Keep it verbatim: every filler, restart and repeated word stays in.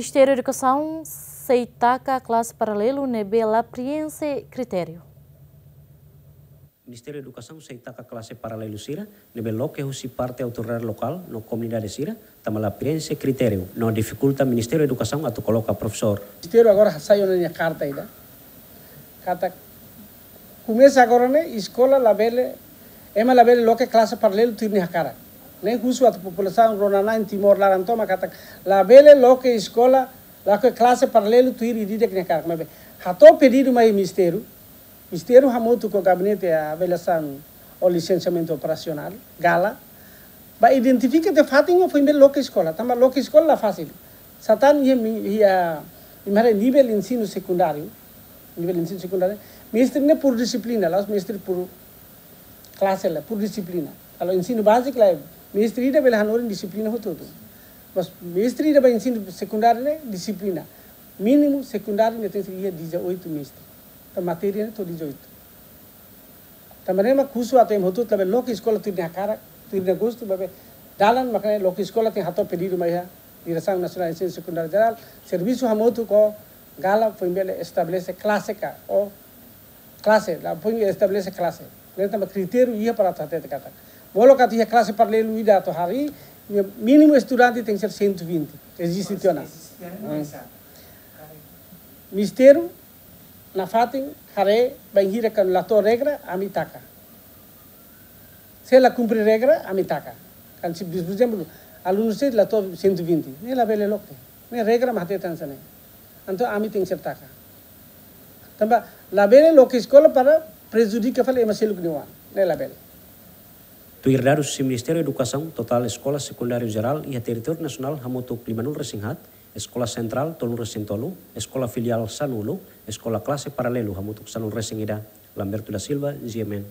Ministériu Edukasaun sei taka klase paralelu ne'ebé la prienxe kritériu. Ministériu Edukasaun sei taka klase paralelu sira ne'ebé loke husi parte autoridade lokál no komunidade sira, tanba la prienxe kritériu, no difikulta Ministériu Edukasaun atu koloka profesór. Ministériu agora hasai ona nia karta ida. Katak komesa agora ne'e eskola labele, ema labele loke klase paralelu tuir nia hakarak. Ne'e husu atu populasaun rona-na'in Timor laran tomak katak labele loke eskola, loke klase paralelu tuir ida-idak nia hakarak. Maibé hato'o pedidu mai ministériu, ministériu hamutuk ho gabinete avaliasaun ou lisensiamentu operasionál, GALA, ba identifika tiha fatin foin bele loke eskola, tanba loke eskola la fasil. Satán iha mi-, iha, iha nivel ensinu sekundáriu, nivel ensinu sekundáriu, mestre ne'e por dixiplina, la'ós mestre por klase, la por dixiplina. Kalau ensinu báziku la, mestre ida bele hanorin dixiplina hotu-hotu. Mas mestre ida ba ensinu sekundáriu ne'e dixiplina. Mínimu sekundáriu ne'e tenke iha dezoito mestre. Tanba matéria ne'e to'o dezoito. Tanba ne'e mak husu atu ema hotu-hotu labele loke eskola tuir nia hakarak, tuir nia gostu, maibé dalan mak ne'e loke eskola tenke hato'o pedidu mai iha Diresaun Nasionál Ensinu Sekundáriu Jerál, servisu hamutuk ho GALA foin bele estabelese klase ka, ou klase, la foin estabelese klase. Ne'e tanba kritériu iha para atu hatete katak molok atu iha klase paralelu ida atu harii, mínimu estudante tenke ser cento e vinte. Eziste tiha ona. Eziste tiha ona, hmm, esa. Ministériu nafatin haree bainhira kuandu la to'o regra, ami taka. Se la kumpre regra, ami taka. Kan se, por ezemplu, alunu sei la to'o cento e vinte, ne'e labele loke. Ne'e regra mak hatete hanesan ne'e. Entaun ami tenke ser taka. Tanba labele loke eskola para prejudika fali ema seluk nia oan. Ne'e labele. Tuir dadus husi Ministériu Edukasaun, totál eskola sekundáriu jerál iha territóriu nasionál hamutuk limanulu-resin-haat, eskola sentrál tolunulu-resin-tolu, eskola filiál sanulu, eskola klase paralelu hamutuk sanulu-resin-ida. Lamberto da Silva, G M N,